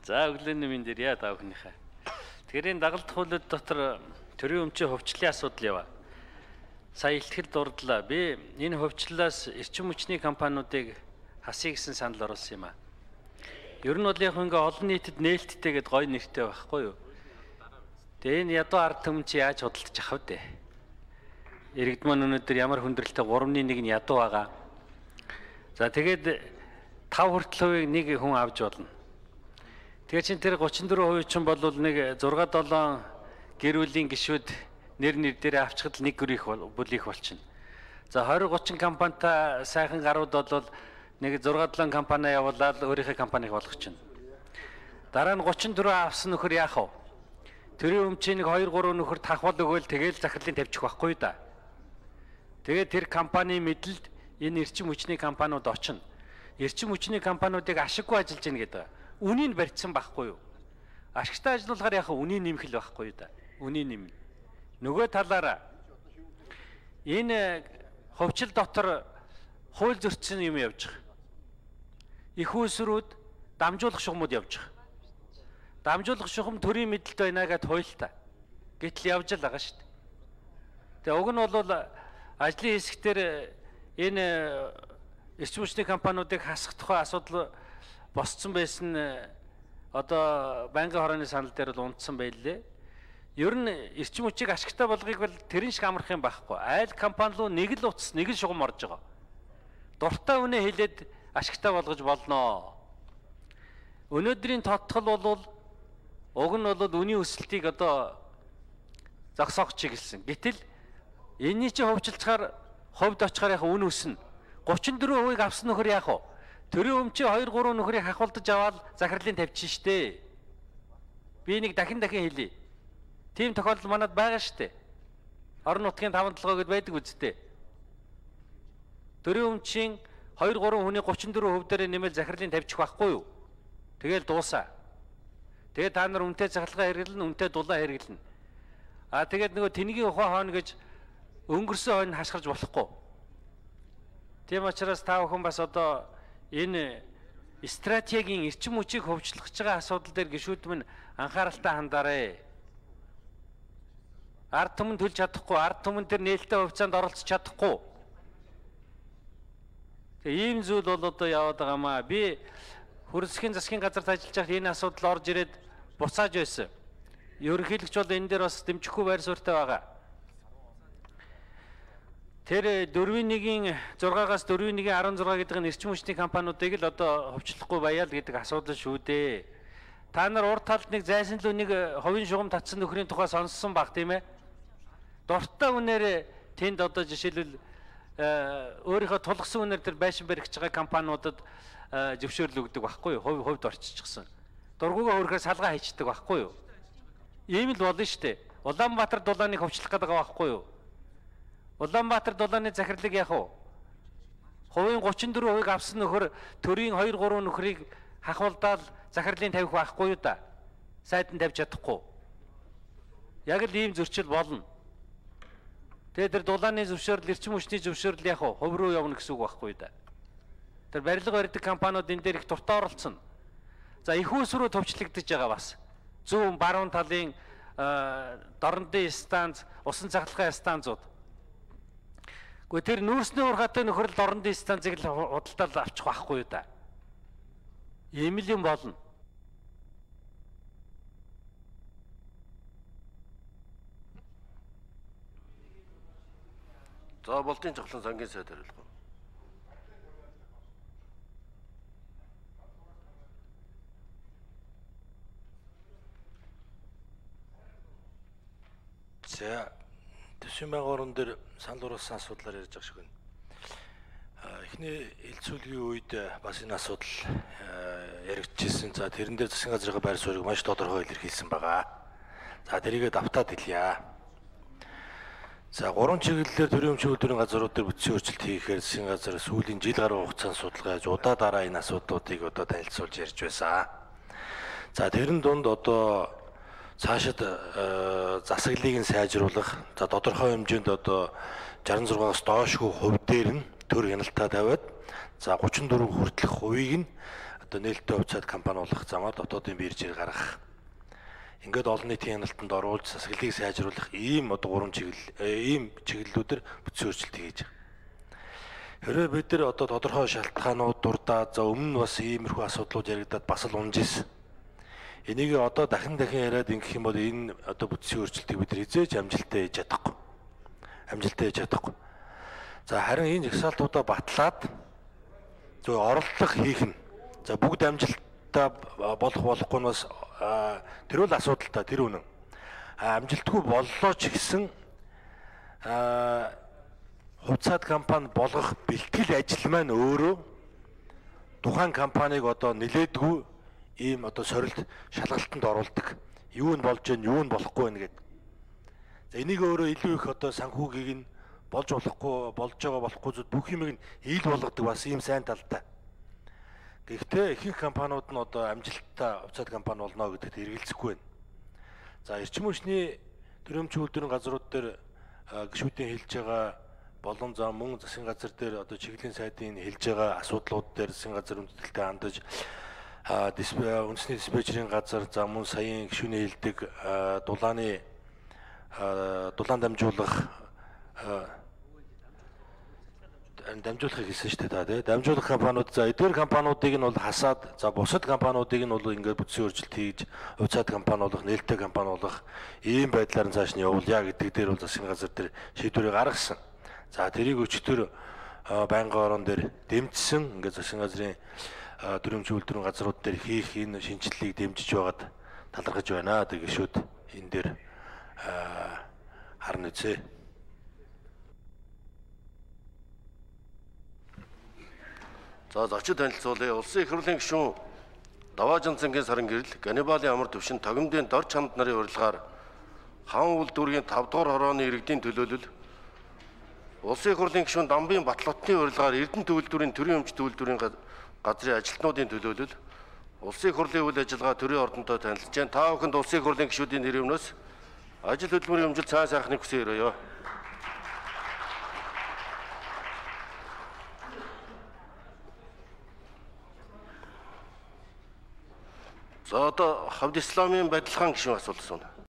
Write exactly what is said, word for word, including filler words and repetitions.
За өглөөний минь дээр яа та бүхнийхээ. Тэгэхээр энэ дагалдах хуулиуд дотор төрийн өмчийн хувьчлалын асуудал яваа. Сая илтгэл дурдлаа. Би энэ хувьчлалаас эрчим хүчний компаниудыг хасъя гэсэн санал оруулсан юм аа. Ер нь бол яг ингээ олон нийтэд нээлттэй гэд гоё нэртэй байхгүй юу? Тэгээ энэ ядуу ард түмэн чи яаж худалдаж авах вэ? Иргэд маань өнөөдөр ямар хүндрэлтэй гуравны нэг нь ядуу байгаа. За тэгээд тав хүртэл хувийг нэг хүн авч болно. Тэгээ чин тэр гучин дөрвөн хувь чинь бол нэг зурга долоон гэр бүлийн гишүүд нэр нэр дээр авчихад нэг гэр их бүл их болчихно. За двадцать тридцать компанитай сайхан гарууд бол нэг зурга долоон компани явуулаад өөрийнхөө компанийг болгочихно. Дараа нь гучин дөрвөн авсан нөхөр яах вэ? Төрийн өмчийн нэг хоёр гурван нөхөр тахвал өгөөл тэгээл захирлын тавьчих байхгүй да. Тэгээд тэр компани мэдлэлд энэ эрчим хүчний компаниуд очино. Эрчим хүчний компаниудыг ашиггүй ажиллаж гин гэдэг. Үнийг барьсан байхгүй юу? Ашигтай ажиллуулахаар яхаа үнийг нэмэх л байхгүй юу да. Үнийг нэмнэ. Нөгөө талаараа энэ хувьчил дотор хууль зөрчсөн юм явж байгаа. Их үүсрүүд дамжуулах шугамуд явж байгаа. Дамжуулах шугам төрийн мэдлэлд байна гэд хуйлтаа. Гэтэл явж л байгаа шүү дээ. Тэгээ уг нь бол ажлын хэсгээр энэ эрчим хүчний компаниудыг хасах тухай асуудал босцсон байсан одоо байнгын хорооны санал дээр л унтсан байлээ. Ер нь эрчим хүчийг ашигтай болгохыг бол тэрэн шиг амарх юм байхгүй. Айл компани руу нэг л утас, нэг л шугам орж байгаа. Дуртай үнэ хэлээд ашигтай болгож болно. Өнөөдрийн тодтол бол уг нь бол үнийн өсөлтийг одоо зогсоох чиглэсэн. Гэтэл энэний чинь хувьчилчаар хувьд очихаар яг үн өснө. гучин дөрвөн хувийг авсан нөхөр яах вэ? Төрийн өмчийн хоёр гурван нөхрийг хахуулдаж аваад захирлын тавьчихна штэ. Би нэг дахин дахин хэлье. Тийм тохиолдол манад байгаа штэ. Орон нутгийн таван толгой гэд байдаг үсттэй. Төрийн өмчийн хоёр гурван хүний гучин дөрвөн хувь дээр нэмэл захирлын тавьчих байхгүй юу? Тэгэл дуусаа. Тэгээд та нар үнэтэй захиргаа хэрэглэн, үнэтэй дулаан хэрэглэн. Аа тэгээд нөгөө тэнгийн ухаан хооно гэж өнгөрсөн хойно хашгирч болохгүй. Тийм учраас та бүхэн бас одоо энэ стратегийн эрчим хүчийг хөгжүүлэх байгаа асуудал дээр гишүүд минь анхааралтай хандаарай. Ард түмэн төлж чадахгүй, ард түмэн тэр нээлттэй хувьцаанд оролцож чадахгүй. Тэгээ ийм зүйл бол одоо яваад байгаа маа. Би хөрсгийн засгийн газарт ажиллаж байхад энэ асуудал орж ирээд буцааж байсан. Ерөнхийлөгч бол энэ дээр бас дэмжихгүй байр суурьтай байгаа. Тэр дөрвийн нэгийн зургаагаас дөрвийн нэгийн арван зураг гэдэг нь эрчим хүчний компаниудыг л одоо хувьчлахгүй баяа л гэдэг асуудал шүү дээ. Та нар урд талд нэг зайсан л нэг хувийн шугам татсан нөхрийн тухай сонссон баг тийм ээ. Дуртай үнээр тэнд одоо жишээлбэл өөрийнхөө тулгсан үнээр тэр байшин баригч байгаа компаниудад зөвшөөрөл өгдөг байхгүй юу? Хувь хувьд орччихсан. Дургуугаа өөрөөр салгаа хийчдэг байхгүй юу? Ийм л болно шүү дээ. Улаанбаатар дулааныг хувьчлах гэдэг байгаа байхгүй юу? Улаанбаатар дулааны захирлыг яах вэ? Хувийн гучин дөрвөн хувийг авсан нөхөр төрийн хоёр гурван нөхрийг хахуулдаад захирлын тавих байхгүй юу да? Сайд нь тавьж чадахгүй. Яг л ийм зөрчил болно. Тэгээд тэр дулааны зөвшөөрөл, эрчим хүчний зөвшөөрөл яах вэ? Хувь руу явна гэсэн үг байхгүй юу да? Тэр барилга барьдаг компаниуд энэ дээр их дуртай оролцсон. За их үүс рүү төвчлөгдөж байгаа бас. Зүүн баруун талын дорнодын станц, усан цахилгаан станцууд. Гэхдээ тэр нүүрсний ургатай нөхрөл дорнодын станцыг л худалдаад авчих байхгүй юу да? Ийм л юм болно. За болтын цоглон сангийн сайд хариулах. За төсвийн байгуурн дээр санал уруулсан асуудлаар ярьж байгаа шиг байна. Эхний элцүүлгийн үед бас энэ асуудал яригдчихсэн. За тэрэн дээр засгийн газрын байр суурийг маш тодорхой илэрхийлсэн байгаа. За тэрийгээ давтаад хэлье. За гурван чиглэлээр төрийн өмчийн үйлдвэрийн газрууд дээр бүтцийн өөрчлөлт хийхээр засгийн газар сүүлийн жил гаруй хугацаанд судалгааж удаа дараа энэ асуудлуудыг одоо танилцуулж ярьж байсан. За тэрэн дунд одоо цаашид засаглалыг нь сайжруулах, за тодорхой хэмжээнд одоо шестьдесят шестаас доош хувь дээр нь төр хяналтаа тавиад, за гучин дөрвөн хүртэлх хувийг нь одоо нээлттэй хувьцаат компани болох замаар дотоодын биржээр гаргах. Ингээд олон нийтийн хяналтанд оруулж засаглалыг сайжруулах ийм одоо гурван чиглэл ийм чиглэлүүдээр бүтцийн өөрчлөлт хийж байгаа. Хэрвээ бид нар одоо тодорхой шалтгаанууд дурдаад за өмнө нь бас иймэрхүү асуудлууд яригадаад бас л унжсэн. Энийг одоо дахин дахин яриад ингэх юм бол энэ одоо бүтцийн өөрчлөлтийг бид нар хизээж амжилттай хийж чадахгүй. Амжилттай хийж чадахгүй. За харин энэ жагсаалтуудаа батлаад зөв оролдлого хийх нь. За бүгд амжилттай болох болохгүй нь бас тэр бол асуудалтай тэр үнэн. Амжилтгүй боллоо ч гэсэн хувьцаат компани болгох бэлтгэл ажил маань өөрөө тухайн компанийг одоо нилээдгүй ийм одоо сорилт шалгалтанд оруулдаг. Юу нь болж гэн, юу нь болохгүй байна гэдэг. За энийг өөрөө илүү их одоо санхүүгийг нь болж болохгүй, болж байгаа болохгүй зүд бүх юмыг нь ил болгодог бас ийм сайн талтай. Гэхдээ ихэнх компаниуд нь одоо амжилттай хувьцаат компани болно гэдэгт эргэлзэхгүй байна. За эрчим хүчний төрөмч үйлдвэрийн газрууд дээр гишүүдийн хэлж байгаа болон зам мөн засгийн газар дээр одоо чиглэлийн сайдын хэлж байгаа асуудлууд дээр засгийн газар хүндэтгэлтэй хандаж үндэсний диспетчерийн газар за мөн саяын гишүүний хэлдэг дулааны дулаан дамжуулах дамжуулахыг хэлсэн шүү дээ та тий. Дамжуулах компаниуд за эдгээр компаниудыг нь бол хасаад за бусад компаниудыг нь бол ингээд бүтцийн өөрчлөлт хийж хувьцаат компани болох, нээлттэй компани болох ийм байдлаар нь цааш нь явуулъя гэдэг дээр бол засгийн газар дээр шийдвэрийг гаргасан. За тэрийг өчтөр байнгын орон дээр дэмжсэн ингээд засгийн газрын төрөмч үйлдвэрийн газрууд дээр хийх энэ шинжилгээг дэмжиж байгаад талархаж байна. Тэр гишүүд энэ дээр харна үзье. За зочид танилцуулъя. Улсын их хурлын гишүүн Даваажин цэнгийн сарын гэрэл Ганнибалын амар төвшин Тогомдын дор чамд нарын урилгаар хаан үйлдвэрийн тавд дугаар хорооны иргэдийн төлөөлөл Улсын их хурлын гишүүн Дамбын Батлотны урилгаар Эрдэнэ төвлөрийн төрийн өмч төвлөрийн газрын ажилтнуудын төлөөлөл Улсын их хурлын үйл ажиллагаа төрийн ордонтой танилцж байна. Та бүхэнд Улсын их хурлын гишүүдийн нэрвнөөс ажил хөдөлмөрийн өмжилт сайн сайхныг хүсье өрөөё. За одоо Хавд Исламын Бадилхан гишүүн асуулт асууна.